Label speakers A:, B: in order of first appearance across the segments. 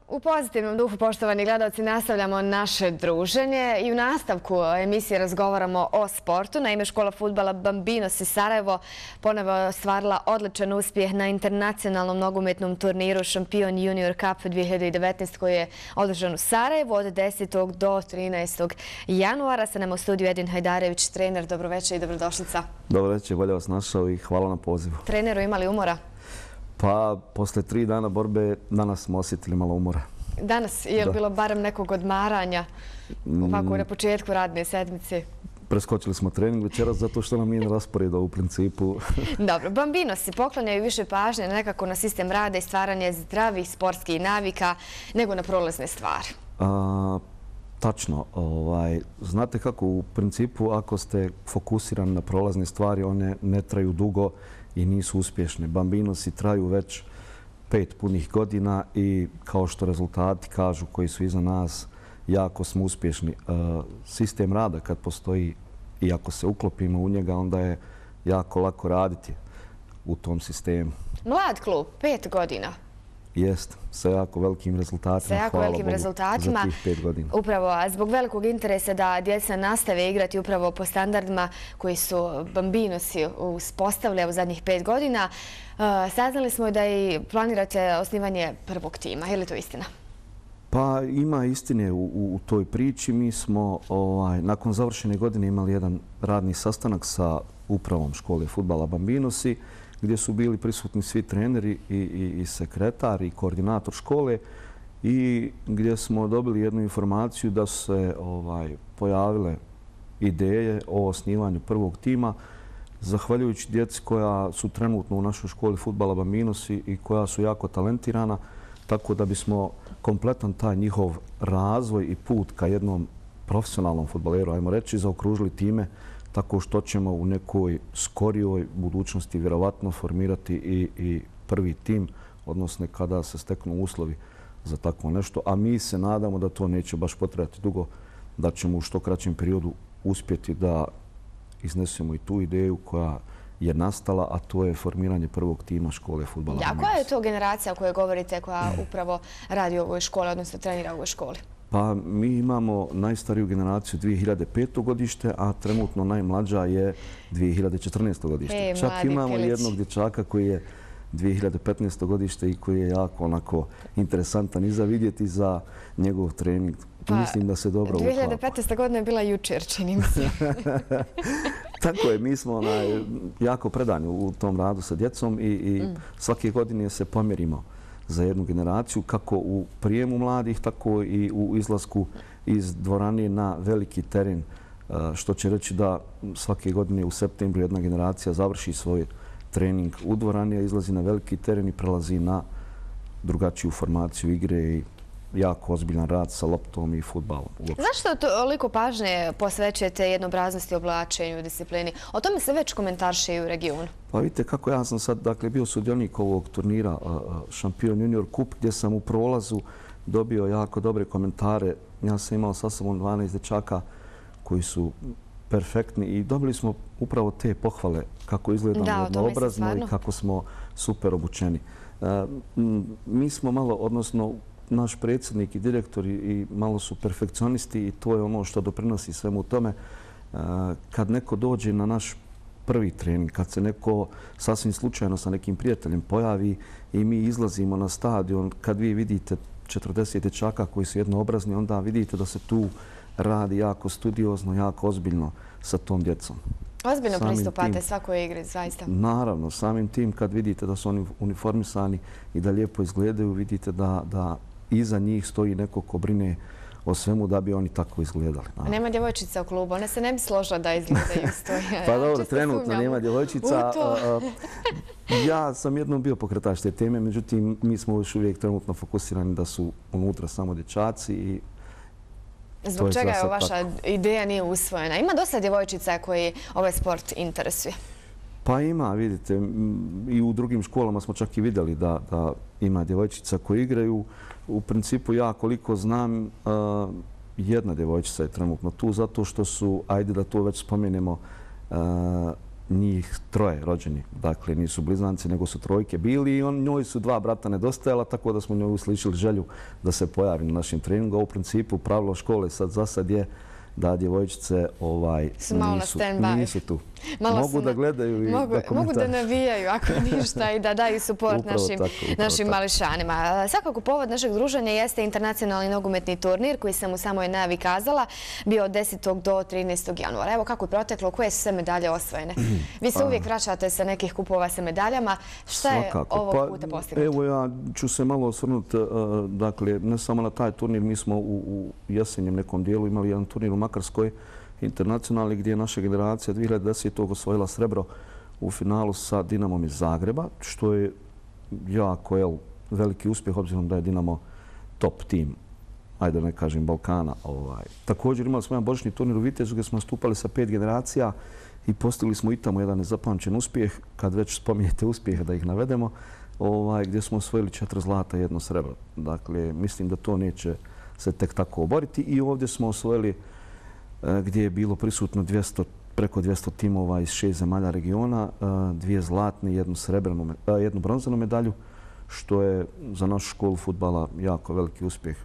A: U pozitivnom duhu, poštovani gledalci, nastavljamo naše druženje i u nastavku emisije razgovaramo o sportu. Naime, škola fudbala Bambinos iz Sarajevo ponovo je ostvarila odličan uspjeh na internacionalnom nogometnom turniru Šampion Junior Cup 2019 koji je održan u Sarajevu od 10. do 13. januara. Sa nama u studiju Edin Hajdarević, trener. Dobroveče i dobrodošlica.
B: Dobroveče, bolje vas našao i hvala na pozivu.
A: Treneru, imali umora?
B: Pa, posle 3 dana borbe, danas smo osjetili malo umora.
A: Danas je bilo barem nekog odmaranja ovako na početku radne sedmice?
B: Preskočili smo trening večeras zato što nam nije rasporeda u principu.
A: Dobro, Bambinosi poklanjaju više pažnje nekako na sistem rada i stvaranje zdravih sportskih navika nego na prolazne stvari.
B: Tačno. Znate kako, u principu ako ste fokusirani na prolazne stvari, one ne traju dugo i nisu uspješne. Bambinosi traju već 5 punih godina i kao što rezultati kažu koji su iza nas, jako smo uspješni. Sistem rada kad postoji i ako se uklopimo u njega, onda je jako lako raditi u tom sistemu.
A: Mlad klub, 5 godina.
B: Jest, sa jako velikim rezultatima.
A: Sa jako velikim rezultatima.
B: Za tih 5 godina.
A: Upravo, a zbog velikog interesa da djeca nastave igrati upravo po standardima koji su Bambinosi uspostavili u zadnjih 5 godina, saznali smo da i planirate osnivanje prvog tima. Je li to istina?
B: Pa ima istine u toj priči. Mi smo nakon završene godine imali jedan radni sastanak sa upravom škole fudbala Bambinosi, gdje su bili prisutni svi treneri i sekretar i koordinator škole i gdje smo dobili jednu informaciju da su se pojavile ideje o osnivanju prvog tima, zahvaljujući djeci koja su trenutno u našoj školi fudbala Bambinosi i koja su jako talentirana, tako da bismo kompletan taj njihov razvoj i put ka jednom profesionalnom fudbaleru, ajmo reći, zaokružili time tako što ćemo u nekoj skorijoj budućnosti vjerovatno formirati i prvi tim, odnosno kada se steknu uslovi za tako nešto. A mi se nadamo da to neće baš potrebati dugo, da ćemo u što kraćem periodu uspjeti da iznesemo i tu ideju koja je nastala, a to je formiranje prvog tima škole fudbala.
A: A koja je to generacija o kojoj govorite koja upravo radi u ovoj školi, odnosno trenira u ovoj školi?
B: Pa mi imamo najstariju generaciju 2005. godište, a trenutno najmlađa je 2014. godište. Čak imamo jednog dječaka koji je 2015. godište i koji je jako onako interesantan i za vidjeti za njegov trening. Mislim da se dobro uklapa.
A: 2015. godina je bila jučer, čini mi se.
B: Tako je, mi smo jako predani u tom radu sa djecom i svake godine se pomjerimo za jednu generaciju, kako u prijemu mladih, tako i u izlasku iz dvorane na veliki teren, što će reći da svake godine u septembru jedna generacija završi svoj trening u dvorani, a izlazi na veliki teren i prelazi na drugačiju formaciju igre i jako ozbiljan rad sa loptom i fudbalom.
A: Zašto toliko pažnje posvećujete jednobraznosti, oblačenju, disciplini? O tome se već komentarše i u regionu.
B: Pa vidite kako ja sam sad bio sudionik ovog turnira Šampion Junior Cup, gdje sam u prolazu dobio jako dobre komentare. Ja sam imao sa sobom 12 dječaka koji su perfektni i dobili smo upravo te pohvale kako izgledamo jednoobrazno i kako smo super obučeni. Mi smo malo, odnosno naš predsjednik i direktor i malo su perfekcionisti i to je ono što doprinosi svemu tome. Kad neko dođe na naš prvi trening, kad se neko sasvim slučajno sa nekim prijateljem pojavi i mi izlazimo na stadion, kad vi vidite 40 dječaka koji su jednoobrazni, onda vidite da se tu radi jako studiozno, jako ozbiljno sa tom djecom.
A: Ozbiljno pristupate svakoj igri, zaista?
B: Naravno, samim tim kad vidite da su oni uniformisani i da lijepo izgledaju, vidite da iza njih stoji neko ko brine o svemu da bi oni tako izgledali.
A: Nema djevojčica u klubu, one se ne bi složile da izgledaju stoje.
B: Pa dobro, trenutno nema djevojčica. Ja sam jednom bio pokretač te teme, međutim mi smo još uvijek trenutno fokusirani da su unutra samo dječaci i
A: zbog čega je vaša ideja nije usvojena? Ima dosta djevojčica koji ovaj sport interesuje.
B: Pa ima, vidite, i u drugim školama smo čak i vidjeli da ima djevojčica koji igraju. U principu ja koliko znam, jedna djevojčica je trenutno tu zato što su, ajde da to već spomenemo, njih troje rođeni. Dakle, nisu blizanci, nego su trojke bili i njoj su dva brata nedostajala, tako da smo njoj uslišili želju da se pojavi na našem treningu. U principu, pravilo škole za sad je da djevojčice nisu tu. Mogu da gledaju i da komentarišu.
A: Mogu da navijaju ako ništa i da daju suport našim mališanima. Svakako povod našeg druženja jeste internacionalni nogometni turnir koji sam u samoj najavi kazala bio od 10. do 13. januara. Evo kako je proteklo, koje su sve medalje osvojene. Vi se uvijek vraćate sa nekih kupova sa medaljama. Šta je ovog puta postignuto?
B: Evo ja ću se malo osvrnuti, dakle, ne samo na taj turnir, mi smo u jesenjem nekom dijelu imali jedan turnir u Makarskoj, internacionalni, gdje je naša generacija 2010. osvojila srebro u finalu sa Dinamom iz Zagreba, što je jako veliki uspjeh, obzirom da je Dinamo top tim, ajde da ne kažem Balkana. Također imali smo jedan božićni turnir u Vitezu gdje smo nastupali sa 5 generacija i postigli smo i tamo jedan nezapamćen uspjeh, kad već spominjete uspjehe da ih navedemo, gdje smo osvojili 4 zlata i 1 srebro. Dakle, mislim da to neće se tek tako oboriti i ovdje smo osvojili gdje je bilo prisutno preko 200 timova iz 6 zemalja regiona, 2 zlatne i 1 bronzanu medalju, što je za našu školu fudbala jako veliki uspjeh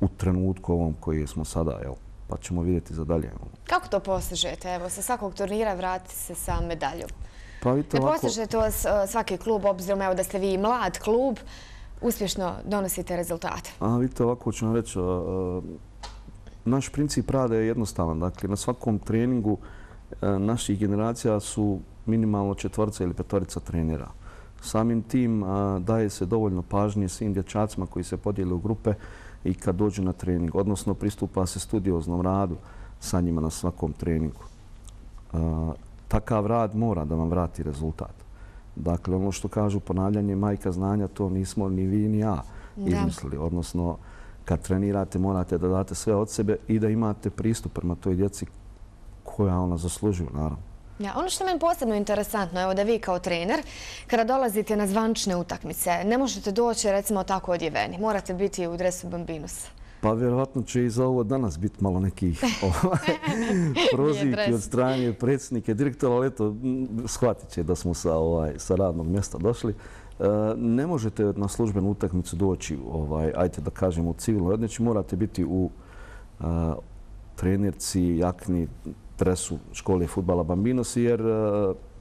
B: u trenutku ovom koji smo sada, pa ćemo vidjeti za dalje.
A: Kako to postižete? Evo, sa svakog turnira vratite se sa medaljom.
B: Ne
A: postiže to svaki klub, obzirom da ste vi mlad klub, uspješno donosite rezultate.
B: Vidite, ovako ću vam reći, naš princip rada je jednostavan. Dakle, na svakom treningu naših generacija su minimalno 4 ili 5 trenera. Samim tim daje se dovoljno pažnje svim dječacima koji se podijele u grupe i kad dođu na trening. Odnosno, pristupa se studioznom radu sa njima na svakom treningu. Takav rad mora da vam vrati rezultat. Dakle, ono što kažu ponavljanje majka znanja, to nismo ni vi ni ja izmislili. Odnosno, kad trenirate morate da date sve od sebe i da imate pristup prema toj djeci koja ona zaslužuju, naravno.
A: Ono što je meni posebno interesantno, evo da vi kao trener, kada dolazite na zvanične utakmice, ne možete doći recimo tako odjeveni. Morate biti u dresu Bambinosa.
B: Pa vjerovatno će i za ovo danas biti malo nekih prozivki od strane predsjednike, direktora, ali eto, shvatit će da smo sa radnog mjesta došli. Ne možete na službenu utakmicu doći, ajte da kažem, u civilnoj odjeći. Morate biti u trenerci, jakni, dresu škole fudbala Bambinosi, jer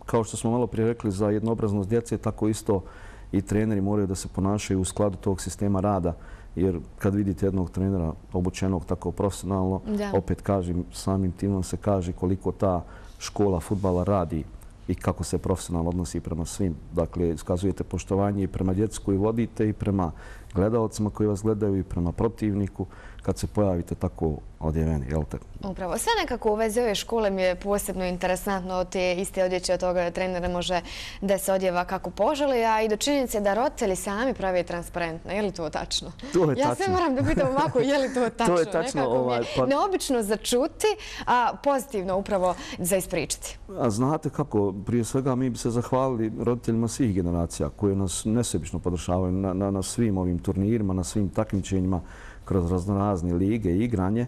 B: kao što smo malo prije rekli za jednoobraznost djece, tako isto i treneri moraju da se ponašaju u skladu tog sistema rada. Jer kad vidite jednog trenera obučenog tako profesionalno, opet kažem, samim timom se kaže koliko ta škola fudbala radi i kako se profesionalno odnosi prema svim. Dakle, iskazujete poštovanje i prema djeci koji vodite i prema gledalcima koji vas gledaju i prema protivniku kad se pojavite tako odjeveni, jel te?
A: Upravo. Sve nekako u vezi ove škole mi je posebno interesantno od te iste odjeće od toga trenera može da se odjeva kako poželi, a i do činjenice da roditelji sami pravi transparentno. Je li to tačno?
B: To je tačno.
A: Ja sve moram da pitam ovako, je li to tačno?
B: To je tačno.
A: Nekako mi je neobično za čuti, a pozitivno upravo za ispričati.
B: A znate kako, prije svega mi bi se zahvalili roditeljima svih generacija koji nas nesebično podržavaju na svim ovim turnirima, na svim takmičenjima kroz raznorazne lige i igranje.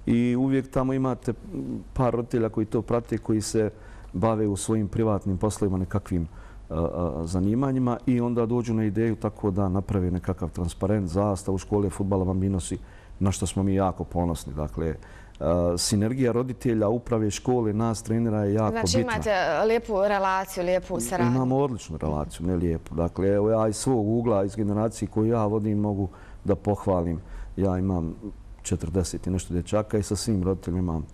B: I uvijek tamo imate par roditelja koji to prate, koji se bave u svojim privatnim poslovima nekakvim zanimanjima i onda dođu na ideju tako da naprave nekakav transparent zastavu škole fudbala Bambinosi, na što smo mi jako ponosni. Dakle, sinergija roditelja, uprave škole, nas trenera je jako bitna.
A: Znači imate lijepu relaciju, lijepu saradnju?
B: Imamo odličnu relaciju, ne lijepu. Dakle, evo ja iz svog ugla, iz generacije koju ja vodim, mogu da pohvalim. Ja imam 40 i nešto dječaka i sa svim roditeljima imam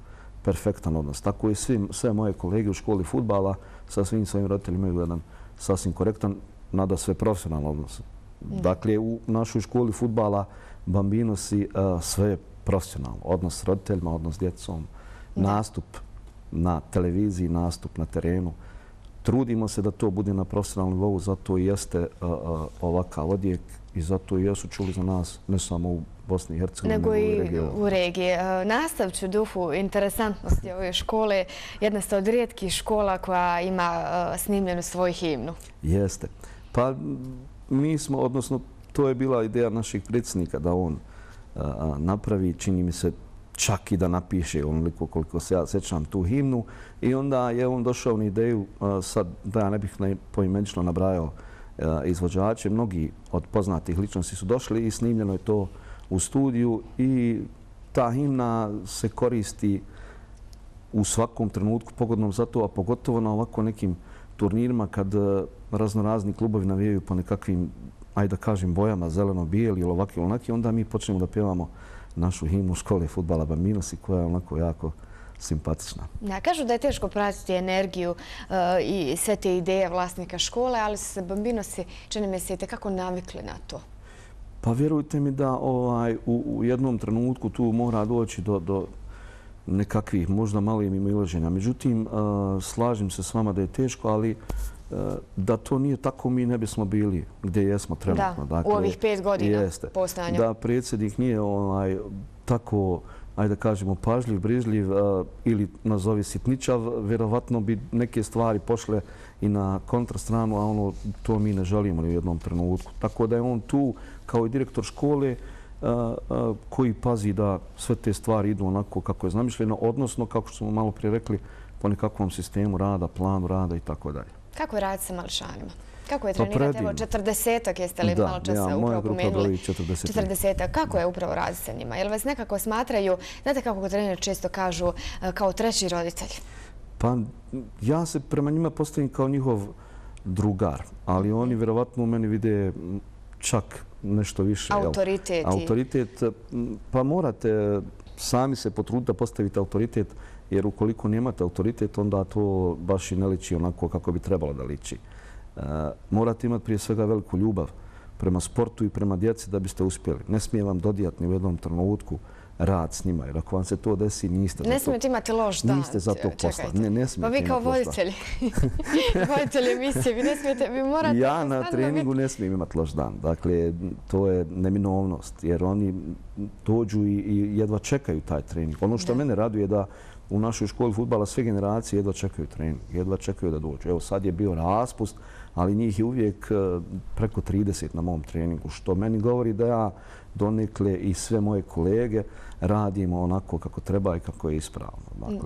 B: perfektan odnos. Tako i sve moje kolege u školi fudbala sa svim svojim roditeljima imaju jedan sasvim korektan, nada sve profesionalan odnos. Dakle, u našoj školi fudbala Bambinosi sve je profesionalno. Odnos s roditeljima, odnos s djecom, nastup na televiziji, nastup na terenu. Trudimo se da to bude na profesionalnom nivou, zato i jeste ovakav odjek i zato i jesu čuli za nas, ne samo u Bosni i Hercegovini,
A: nego i u regiji. Nastavit ću duhu interesantnosti ove škole. Jedna ste od rijetkih škola koja ima snimljenu svoju himnu.
B: Jeste. Pa mi smo, odnosno to je bila ideja našeg predsjednika da on napravi, čini mi se, čak i da napiše onoliko koliko se ja sjećam tu himnu. I onda je on došao na ideju, sad da ja ne bih poimenično nabrajao izvođače, mnogi od poznatih ličnosti su došli i snimljeno je to u studiju i ta himna se koristi u svakom trenutku pogodnom za to, a pogotovo na ovako nekim turnirima kad raznorazni klubovi navijaju po nekakvim, ajde da kažem, bojama, zeleno-bijeli ili ovakvi ili onaki, onda mi počnemo da pjevamo našu himnu škole fudbala Bambinosi koja je onako jako simpatična.
A: Ja, kažu da je teško pratiti energiju i sve te ideje vlasnika škole, ali su se Bambinosi, čini mi se, i tekako navikli na to.
B: Pa vjerujte mi da u jednom trenutku tu mora doći do nekakvih možda malih mimoilaženja. Međutim, slažem se s vama da je teško, ali da to nije tako mi ne bismo bili gdje jesmo trenutno.
A: Da, u ovih 5 godina postojanja.
B: Da predsjednik nije tako, ajde da kažemo, pažljiv, brižljiv ili nazovi sitničav, vjerovatno bi neke stvari pošle i na kontrastranu, a to mi ne želimo ni u jednom trenutku. Tako da je on tu kao i direktor škole koji pazi da sve te stvari idu onako kako je zamišljeno, odnosno, kako smo malo prije rekli, po nekakvom sistemu rada, planu rada i tako dalje.
A: Kako je raditi sa mališanima? Kako je trenirati? Evo, 40-ak jeste li malo časa upravo pomenuli? 40-ak. Kako je upravo raditi sa njima? Jel vas nekako smatraju, znate kako treneri često kažu, kao treći roditelj?
B: Pa ja se prema njima postavim kao njihov drugar, ali oni vjerovatno u meni vide čak nešto više.
A: Autoritet.
B: Autoritet, pa morate sami se potruditi da postavite autoritet, jer ukoliko nemate autoritet, onda to baš i ne liči onako kako bi trebalo da liči. Morate imati prije svega veliku ljubav prema sportu i prema djeci da biste uspjeli. Ne smije vam dodijati ni u jednom trenutku rad s njima, jer ako vam se to desi, niste za to.
A: Ne smijete imati loš dan.
B: Niste za to posla. Ne smijete.
A: Pa vi kao voditelji emisije, vi ne smijete, vi morate...
B: Ja na treningu ne smijem imati loš dan. Dakle, to je neminovnost, jer oni dođu i jedva čekaju taj trening. Ono što mene raduje je da u našoj školi fudbala sve generacije jedva čekaju trening, jedva čekaju da dođu. Evo sad je bio raspust, ali njih je uvijek preko 30 na mom treningu, što meni govori da ja donekle i sve moje kolege radimo onako kako treba i kako je ispravno.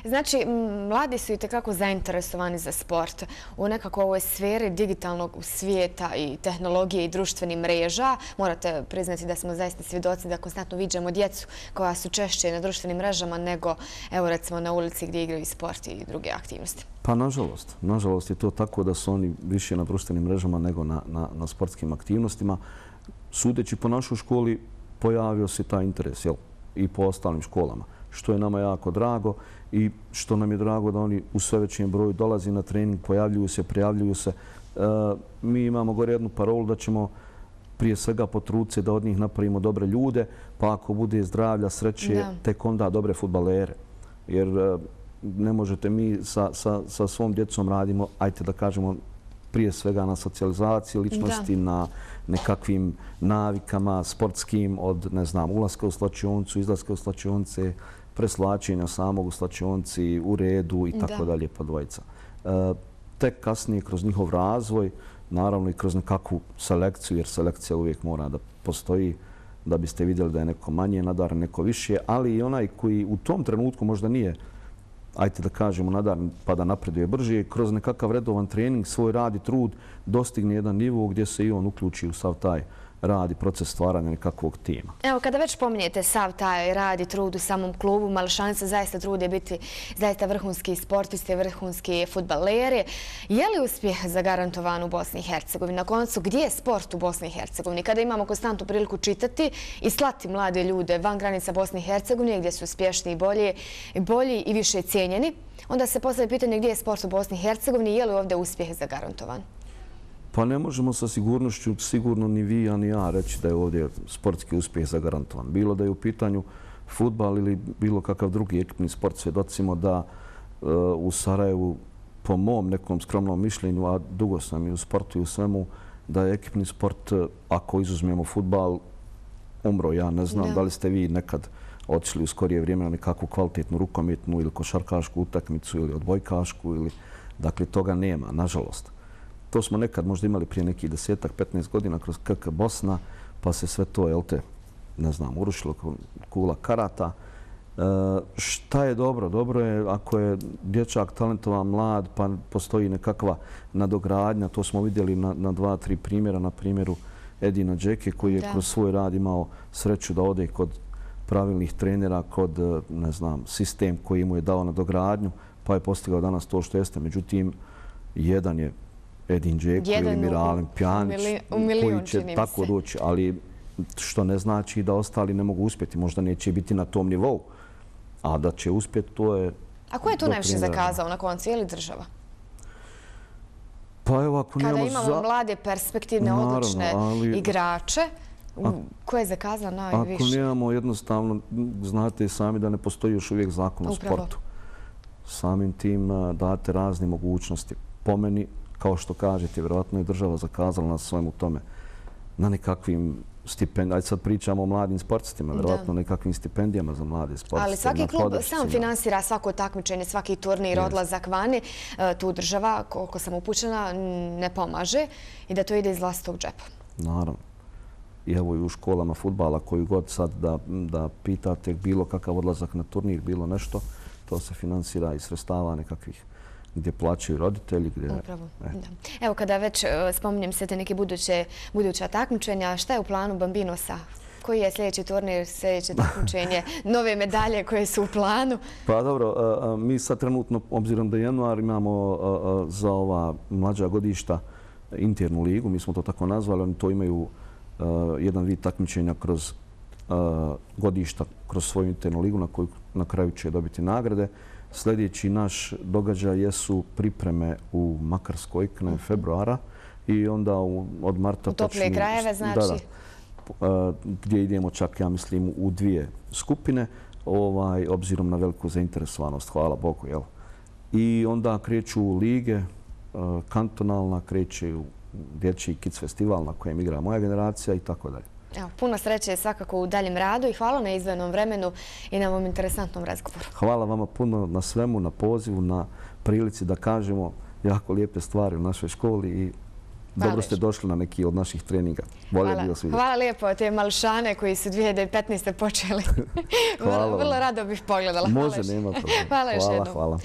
A: Znači, mladi su i tekako zainteresovani za sport u nekako ovoj sferi digitalnog svijeta i tehnologije i društvenih mreža. Morate priznati da smo zaista svjedoci da konstantno viđamo djecu koja su češće na društvenim mrežama nego, evo recimo, na ulici gdje igraju sport i druge aktivnosti.
B: Pa nažalost. Nažalost je to tako da su oni više na društvenim mrežama nego na sportskim aktivnostima. Sudeći po našoj školi pojavio se taj interes i po ostalim školama, što je nama jako drago i što nam je drago da oni u sve većem broju dolazi na trening, pojavljuju se, prijavljuju se. Mi imamo gore jednu parolu da ćemo prije svega potruditi se da od njih napravimo dobre ljude, pa ako bude zdravlja, sreće, tek onda dobre fudbalere. Jer ne možete mi sa svom djecom radimo, ajte da kažemo, prije svega na socijalizaciji ličnosti, na nekakvim navikama sportskim od, ne znam, ulaska u slačioncu, izlaska u slačionice, preslačenja samog u slačionci, u redu i tako dalje po dvojica. Tek kasnije kroz njihov razvoj, naravno i kroz nekakvu selekciju, jer selekcija uvijek mora da postoji da biste vidjeli da je neko manje nadaren, neko više, ali i onaj koji u tom trenutku možda nije, ajte da kažemo, nadaren pa da napreduje brže, kroz nekakav redovan trening, svoj rad i trud dostigne jedan nivo gdje se i on uključi u sav taj rad i proces stvaranja nekakvog tima.
A: Evo, kada već pominjete sav taj rad i trud u samom klubu, mališani se zaista trude biti zaista vrhunski sportisti, vrhunski fudbaleri. Je li uspjeh zagarantovan u Bosni i Hercegovini? Na koncu, gdje je sport u Bosni i Hercegovini? Kada imamo konstantnu priliku čitati i slati mlade ljude van granica Bosne i Hercegovine, gdje su uspješni i bolji i više cijenjeni, onda se postavlja pitanje gdje je sport u Bosni i Hercegovini i je li ovdje uspjeh zagarantovan?
B: Pa ne možemo sa sigurnošću sigurno ni vi, a ni ja reći da je ovdje sportski uspjeh zagarantovan. Bilo da je u pitanju fudbal ili bilo kakav drugi ekipni sport, svjedocimo da u Sarajevu, po mom nekom skromnom mišljenju, a dugo sam i u sportu i u svemu, da je ekipni sport, ako izuzmemo fudbal, umro. Ja ne znam da li ste vi nekad otišli u skorije vrijeme na nekakvu kvalitetnu rukometnu ili košarkašku utakmicu ili odbojkašku. Dakle, toga nema, nažalost. To smo nekad možda imali prije nekih 10-15 godina kroz KK Bosna, pa se sve to, ne znam, urušilo kula karata Šta je dobro? Dobro je ako je dječak talentovan, mlad, pa postoji nekakva nadogradnja. To smo vidjeli na 2-3 primjera. Na primjeru Edina Džeke koji je kroz svoj rad imao sreću da ode kod pravilnih trenera, kod, ne znam, sistem koji mu je dao nadogradnju, pa je postigao danas to što jeste. Međutim, jedan je Edin Džeko ili Miralem Pjanić koji će tako doći, ali što ne znači da ostali ne mogu uspjeti. Možda neće biti na tom nivou, a da će uspjeti, to je...
A: A ko je tu najviše zakazao na koncu, je li država?
B: Pa evo, ako
A: kada imamo mlade, perspektivne, odlične igrače, ko je zakazao najviše?
B: Ako nemamo, jednostavno, znate sami da ne postoji još uvijek zakon o sportu. Samim tim date razne mogućnosti. Po meni, kao što kažete, vjerojatno je država zakazala na svemu tome, na nekakvim stipendijama. Ajde sad pričamo o mladim sportistima, vjerojatno nekakvim stipendijama za mlade sportiste.
A: Ali svaki klub sam finansira svako takmičenje, svaki turnir, odlazak vani. Tu država, koliko sam upućena, ne pomaže i da to ide iz vlastitog džepa.
B: Naravno. I evo i u školama fudbala, koju god sad da pitate bilo kakav odlazak na turnir, bilo nešto, to se finansira iz sredstava nekakvih gdje plaćaju roditelji.
A: Upravo, da. Evo, kada već spominjem sve te neke buduća takmičenja, šta je u planu Bambinosa? Koji je sljedeći turnir, sljedeće takmičenje, nove medalje koje su u planu?
B: Pa dobro, mi sad trenutno, obzirom da je januar, imamo za ova mlađa godišta internu ligu, mi smo to tako nazvali, oni to imaju jedan vid takmičenja kroz godišta, kroz svoju internu ligu na koju na kraju će dobiti nagrade. Sljedeći naš događaj jesu pripreme u Makarskoj krajem februara i onda od marta...
A: U toplije krajeve, znači?
B: Da, gdje idemo čak, ja mislim, u 2 skupine, obzirom na veliku zainteresovanost, hvala Bogu. I onda kreću lige, kantonalna, kreće dječji kids festival na kojem igra moja generacija i tako dalje.
A: Puno sreće svakako u daljem radu i hvala na izdvojenom vremenu i na ovom interesantnom razgovoru.
B: Hvala vama puno na svemu, na pozivu, na prilici da kažemo jako lijepe stvari u našoj školi i dobro ste došli na neki od naših treninga.
A: Hvala lijepo te malšane koji su 2015. počeli. Vrlo rado bih pogledala.
B: Može, nema problema.
A: Hvala još jednom.
B: Hvala.